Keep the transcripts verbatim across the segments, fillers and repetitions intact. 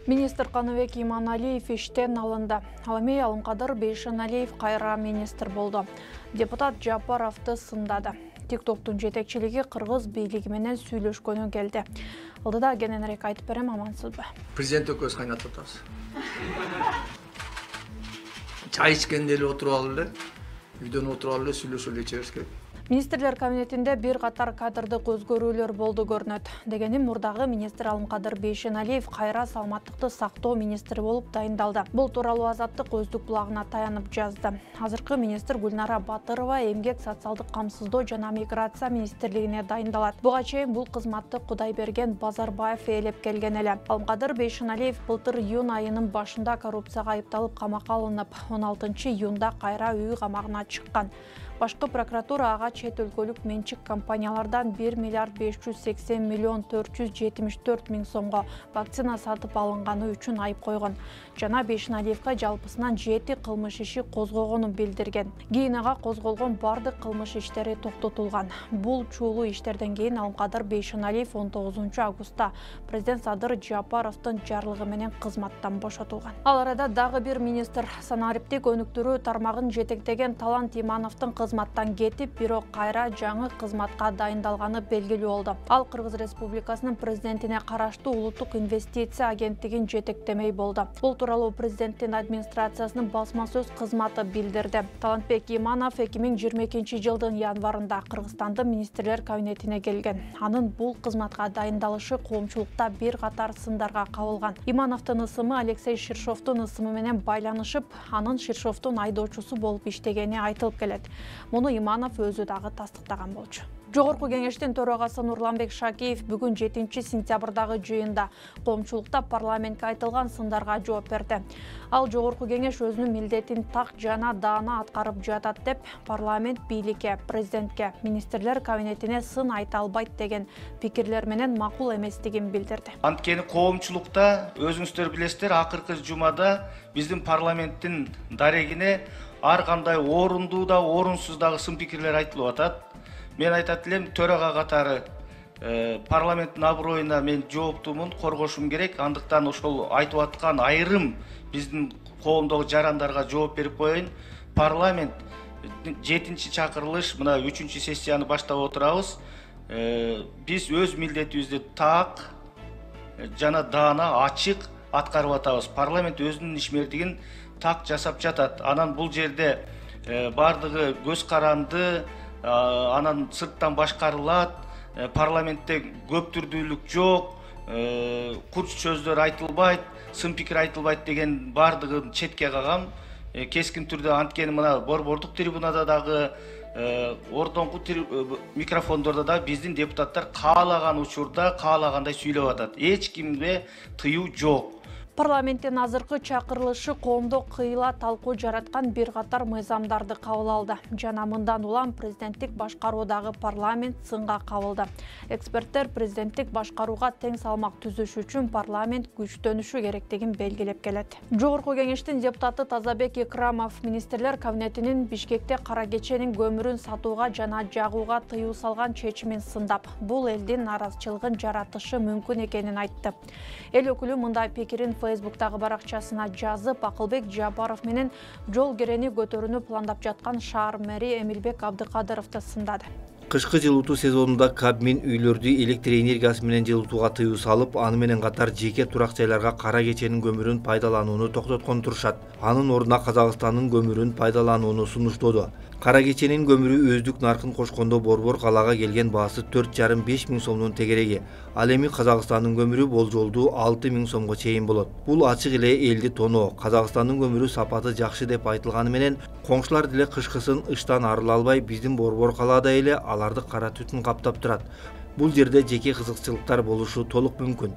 Министр Каныбек Иманалиев иштен алынды. Ал эми Алымкадыр Бейшеналиев кайра министр болду. Депутат Жапаровду сындады. Тиктоктун жетекчилиги кыргыз бийлиги менен сүйлөшкөнү келди. Алдыда кененирээк айтып берем, амансызбы? Президент экөөбүз кайнатып атабыз. Чай ичкенде эле отуруп алып эле, үйдөн отуруп алып эле сүйлөшүп эле ичебиз керек. Министрлер кабинетинде бир катар кадрдык өзгөрүүлөр болду көрүнөт. Дегеним, мурдагы министр Алымкадыр Бейшеналиев кайра саламаттыкты сактоо министри болуп дайындалды. Бул тууралуу Азаттык өздүк булагына таянып жазды. Азыркы министр Гүлнара Батырова эмгек, социалдык камсыздоо жана миграция министрлигине дайындалат. Буга чейин бул кызматты Кудайберген Базарбаев ээлеп келген эле. Алымкадыр Бейшеналиев былтыр июнь айынын башында коррупцияга айыпталып камакка алынып, он алтынчы июнда кайра үй камагына чыккан. Башкы прокуратура ага чет өлкөлүк менчик компаниялардан бир миллиард беш жүз сексен миллион төрт жүз жетимиш төрт миң сомго вакцина сатып алынганы үчүн айып койгон. Жана Бейшеналиевге жалпысынан жети кылмыш иши козгогонун билдирген. Кийин ага козголгон бардык кылмыш иштери токтотулган. Бул чуулуу иштерден кийин Алымкадыр Бейшеналиев он тогузунчу августта президент Садыр Жапаровдун жарлыгы менен кызматтан бошотулган. Ал арада дагы бир министр санариптик өнүктүрүү тармагын жетектеген Талант Имановдун кызматтан кетип, бирок кайра жаңы кызматка дайындалганы белгилүү болду. Ал Кыргыз Республикасынын президентине караштуу Улуттук инвестиция агенттигин жетектемей болду. Бул тууралуу президенттин администрациясынын басма сөз кызматы билдирди. Талантбек Иманов эки миң жыйырма экинчи жылдын январында Кыргызстандын министрлер кабинетине келген. Анын бул кызматка дайындалышы коомчулукта бир катар сындарга кабылган. Имановдун ысымы Алексей Ширшовдун ысымы менен байланышып, анын Ширшовдун айдоочусу болуп иштегени айтылып келет. Муну Иманов өзү дагы тастыктаган болчу. Жогорку кеңештин төрагасы Нурланбек Шакиев бүгүн жетинчи сентябрдагы жыйында коомчулукта парламентке айтылган сындарга жооп берди. Ал жогорку кеңеш өзүнүн милдетин так жана даана аткарып жатат деп, парламент бийликке, президентке, министрлер кабинетине сын айта албайт деген пикирлер менен макул эместигин билдирди. Анткени коомчулукта өзүңүздөр билесиздер, акыркы жумада биздин парламенттин дарегине ар кандай орундуу да, орунсуз дагы сын пикирлер айтылып атат. Мен айтат элем, төрага катары э, парламенттин аброюна мен жооптумун, коргошум керек. Андыктан ошол айтып аткан айрым биздин коомдогу жарандарга жооп берип коеюн. Парламент жетинчи чакырылыш, мына үчүнчү сессияны баштап отурабыз. Э, биз өз милдетибизди так жана даана, ачык аткарып атабыз. Парламент өзүнүн ишмердигин так жасап жатат. Анан бул жерде э, бардыгы көз каранды, анан сырттан башкарылат, парламентте көптүрдүүлүк жок, курч сөздөр айтылбайт, сын пикир айтылбайт деген бардыгын четке кагам. Кескин түрдө анткени мына борбордук трибунада дагы, ордоңку микрофондордо да биздин депутаттар каалаган учурда каалагандай сүйлөп атат. Эч кимге тыюу жок. Парламенттин азыркы чакырылышы коомдо кыйла талкуу жараткан бир катар мыйзамдарды кабыл алды. Жана мындан улам президенттик башкаруудагы парламент сынга кабылды. Эксперттер президенттик башкарууга тең салмак түзүш үчүн парламент күчтөнүшү керектигин белгилеп келет. Жогорку кеңештин депутаты Тазабек Икрамов министрлер кабинетинин Бишкекте кара кеченин көмүрүн сатууга жана жагууга тыюу салган чечимин сындап, бул элдин наразычылыгын жаратышы мүмкүн экенин айтты. Эл өкүлү мындай пикирин Фейсбуктагы баракчасына жазып, Акылбек Жапаров менен жол керени көтөрүүнү пландап жаткан шаар мэри Эмилбек Абдыкадыровду сындады. Кышкы жылытуу сезонунда Кабмин үйлөрдү электр энергиясы менен жылытууга тыюу салып, аны менен катар жеке турак жайларга кара кеченин көмүрүн пайдаланууну токтоткон турушат. Анын ордуна Казакстандын көмүрүн пайдаланууну сунуштоодо. Кара кеченин көмүрү өздүк наркын кошкондо борбор калаага келген баасы төрт жарым беш миң сомдун тегереги. Ал эми Казакстандын көмүрү болжолдуу алты миң сомго чейин болот. Бул ачык эле элди тоноо. Казакстандын көмүрү сапаты жакшы деп айтылганы менен, коңшулар деле кышкысын ыштан арыла албай, биздин борбор калаада эле аларды кара түтүн каптап турат. Бул жерде жеке кызыкчылыктар болушу толук мүмкүн.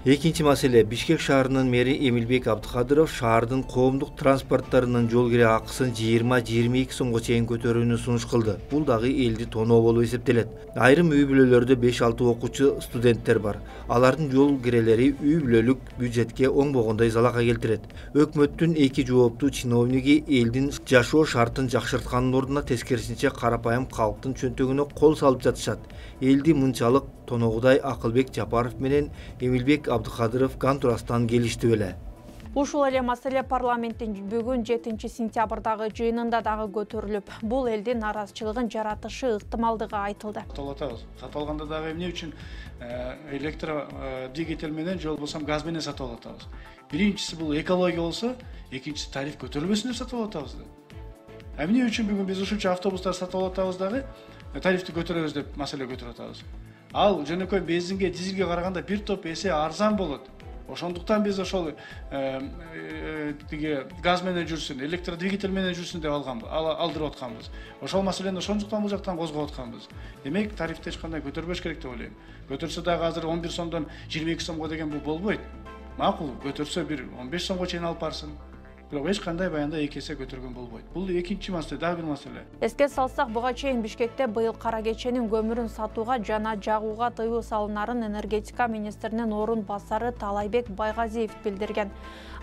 Экинчи маселе, Бишкек шаарынын мэри Эмилбек Абдыкадыров шаардын коомдук транспорттарынын жол кире акысын жыйырма жыйырма эки сомго чейин көтөрүүнү сунуш кылды. Бул дагы элди тоноо болуп эсептелет. Айрым үй бүлөлөрдө беш алты окуучу, студенттер бар. Алардын жол кирелери үй бүлөлүк бюджетке оңбогондой залака келтирет. Өкмөттүн эки жооптуу чиновниги элдин жашоо шартын жакшырткандын ордуна тескерисинче карапайым калктын чөнтөгүнө кол салып жатышат. Элди мынчалык Тоногудай Акылбек Жапаров менен Эмилбек Абдыкадыров кан туурасынан келишти беле. Ушул эле маселе парламенттин бүгүн жетинчи сентябрдагы жыйынында дагы көтөрүлүп, бул элдин наразычылыгын жаратышы ыктымалдыгы айтылды. Каталатабыз. Каталганда дагы эмне үчүн электр двигатель менен же болбосо газ менен сатып алатабыз. Биринчиси бул экология болсо, экинчиси тариф көтөрүлбөсүн деп сатып алатабыз да. Эмне үчүн бүгүн биз ушунча автобустар сатып алатабыз дагы тарифти көтөрөбүз деп маселе көтөрүп атабыз. Ал жөнөкөй бензинге, дизелге караганда бир топ эсе арзан болот. Ошондуктан биз ошол тиги газ менен жүрсүн, электр двигатель менен жүрсүн деп алганбыз, алдырып атканбыз. Ошол маселени ошондуктан бул жактан козгоп атканбыз. Демек, тарифти эч кандай көтөрбөш керек деп ойлойм. Көтөрсө дагы азыр он бир сомдон жыйырма эки сомго деген бул болбойт. Макул, көтөрсө бир он беш сомго чейин алып барсын. Бирок эч кандай баянда эки эсе көтөргөн болбойт. Бул экинчи маселе, дагы бир маселе. Эске салсак, буга чейин Бишкекте быйыл кара кеченин көмүрүн сатууга жана жагууга тыюу салынарын энергетика министринин орун басары Талайбек Байгазиев билдирген.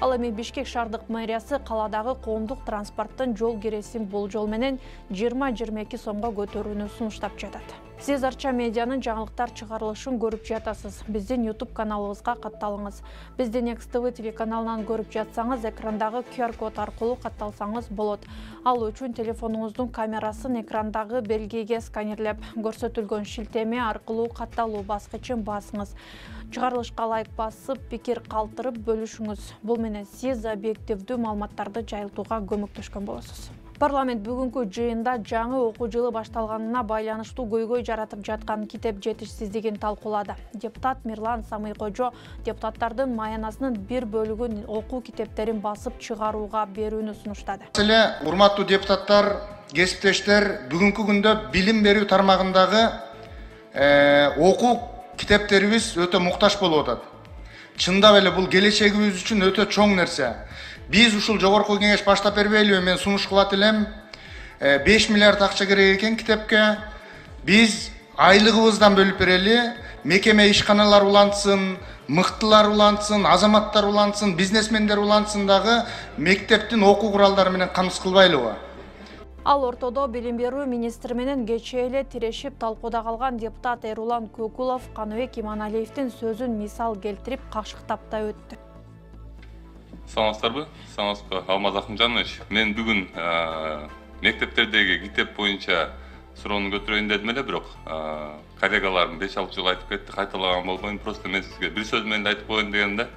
Ал эми Бишкек шаардык мэриясы каладагы коомдук транспорттун жол киресин болжол менен жыйырма жыйырма эки сомго көтөрүүнү сунуштап жатат. Сиз Арча медианын жаңылыктар чыгарылышын көрүп жатасыз. Биздин YouTube каналыбызга катталыңыз. Биздин Next ти ви телеканалынан көрүп жатсаңыз, экрандагы ку ар код аркылуу катталсаңыз болот. Ал үчүн телефонуңуздун камерасын экрандагы белгиге сканерлеп, көрсөтүлгөн шилтеме аркылуу катталуу баскычын басыңыз. Чыгарылышка лайк басып, пикир калтырып бөлүшүңүз. Бул менен сиз объективдүү маалыматтарды жайылтууга көмөктөшкөн болосуз. Парламент бүгүнкү жыйында жаңы окуу жылы башталганына байланыштуу көйгөй жаратып жаткан китеп жетишсиздигин талкуулады. Депутат Мирлан Самыйкожо депутаттардын маянасынын бир бөлүгүн окуу китептерин басып чыгарууга берүүнү сунуштады. Маселе, урматтуу депутаттар, кесиптештер, бүгүнкү күндө билим берүү тармагындагы окуу китептерибиз өтө муктаж болуп атат. Чындап эле бул келечегибиз үчүн өтө чоң нерсе. Биз ушул жогорку кеңеш баштап бербейлиби? Мен сунуш кылат элем. беш миллиард акча керек экен китепке. Биз айлыгыбыздан бөлүп берели. Мекеме ишканалар улантсын, мыктылар улантсын, азаматтар улантсын, бизнесмендер улантсын дагы мектептин окуу куралдары менен камсыз кылбайлыбы? Ал ортодо билим берүү министри менен кечээ эле тирешип талкууда калган депутат Эрулан Көкулов Каныбек Иманалиевдин сөзүн мисал келтирип кашыктап да өттү. Саламатсыздарбы? Саламатсызбы, Алмаз Акымжанович. Мен бүгүн мектептердеги китеп боюнча суроону көтөрөйүн дедим эле, бирок коллегаларым беш алты жолу айтып кетти, кайталаган болбойм. Просто мен сизге бир сөз менен айтып коеюн дегем да.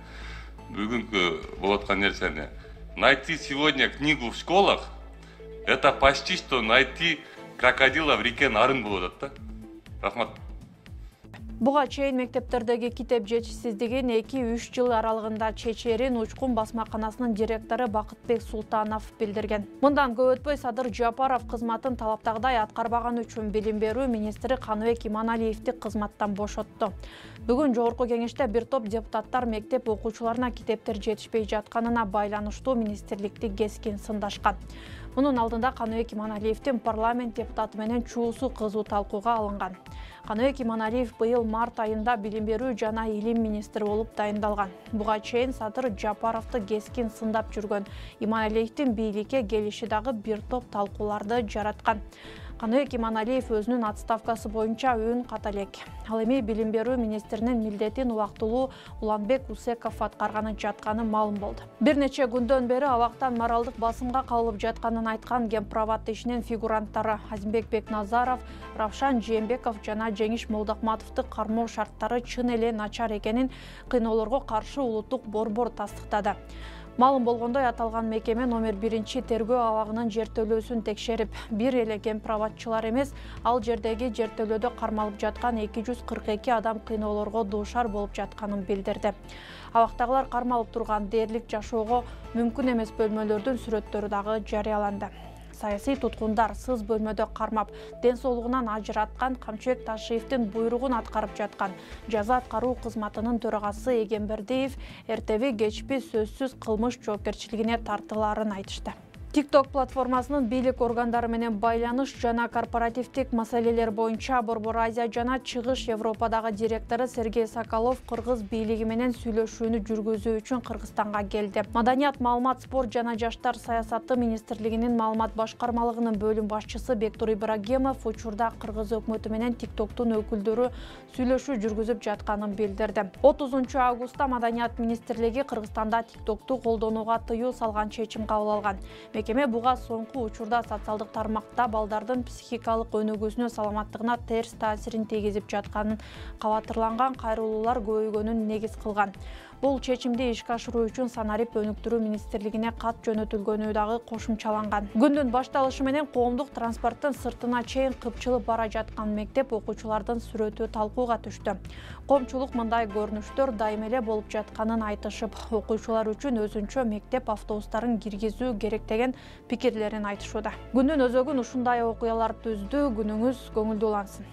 Бүгүнкү болуп аткан нерсени найти сегодня книгу в школах — это почти что найти крокодила в реке Нарын болуп атат да. Рахмат. Буга чейин мектептердеги китеп жетишсиздигин эки үч жыл аралыгында чечерин Учкун басмаканасынын директору Бакытбек Султанов билдирген. Мындан көп өтпөй Садыр Жапаров кызматын талаптагыдай аткарбаганы үчүн билим берүү министри Каныбек Иманалиевди кызматтан бошотту. Бүгүн жогорку кеңеште бир топ депутаттар мектеп окуучуларына китептер жетишпей жатканына байланыштуу министрликти кескин сындашкан. Мунун алдында Каныбек Иманалиевдин парламент депутаты менен чуусу кызуу талкууга алынган. Каныбек Иманалиев быйыл март айында билим берүү жана илим министри болуп дайындалган. Буга чейин Садыр Жапаровду кескин сындап жүргөн Иманалиевдин бийликке келиши дагы бир топ талкууларды жараткан. Каныбек Иманалиев өзүнүн отставкасы боюнча үн ката элек. Ал эми билим берүү министринин милдетин убактылуу Уланбек Усеков аткарганы жатканы маалым болду. Бир нече күндөн бери абактан моралдык басымга калып жатканын айткан Гемпроват ишинин фигуранттары Азимбек Бекназаров, Равшан Жээнбеков жана Жеңиш Молдокматовду кармоо шарттары чын эле начар экенин кыйноолорго каршы улуттук борбор тастыктады. Маалым болгондой, аталган мекеме номер биринчи тергөө абагынын жертөлөөсүн текшерип, бир эле гемпроватчылар эмес, ал жердеги жертөлөөдө кармалып жаткан эки жүз кырк эки адам кыйноолорго дуушар болуп жатканын билдирди. Абактагылар кармалып турган дээрлик жашоого мүмкүн эмес бөлмөлөрдүн сүрөттөрү дагы жарыяланды. Саясий туткундар сыз бөлмөдө кармап, ден соолугунан ажыраткан Камчыбек Ташиевдин буйругун аткарып жаткан жаза аткаруу кызматынын төрагасы Эгембердиев эртеби кечпи сөзсүз кылмыш жоопкерчилигине тартылаарын айтышты. TikTok платформасынын бийлик органдары менен байланыш жана корпоративдик маселелер боюнча Борбор Азия жана Чыгыш Европадагы директору Сергей Соколов кыргыз бийлиги менен сүйлөшүүнү жүргүзүү үчүн Кыргызстанга келди. Маданият, маалымат, спорт жана жаштар саясаты министрлигинин маалымат башкармалыгынын бөлүм башчысы Бектур Ибрагимов учурда кыргыз өкмөтү менен TikToктун өкүлдөрү сүйлөшүү жүргүзүп жатканын билдирди. отузунчу августта Маданият министрлиги Кыргызстанда TikToкту колдонууга тыюу салган чечим кабыл алган. Мекеме буга соңку учурда социалдык тармакта балдардын психикалык өнүгүүсүнө, саламаттыгына терс таасирин тийгизип жатканын, кабатырланган кайрылуулар көбөйгөнүн негиз кылган. Бул чечимди ишке ашыруу үчүн санарип өнүктүрүү министрлигине кат жөнөтүлгөнү дагы кошумчаланган. Күндүн башталышы менен коомдук транспорттун сыртына чейин кыпчылып бара жаткан мектеп окуучулардын сүрөтү талкууга түштү. Коомчулук мындай көрүнүштөр дайыма эле болуп жатканын айтышып, окуучулар үчүн өзүнчө мектеп автобустарын киргизүү керек деген пикирлерин айтышууда. Күндүн өзөгүн ушундай окуялар түздү. Күнүңүз көңүлдүү улансын.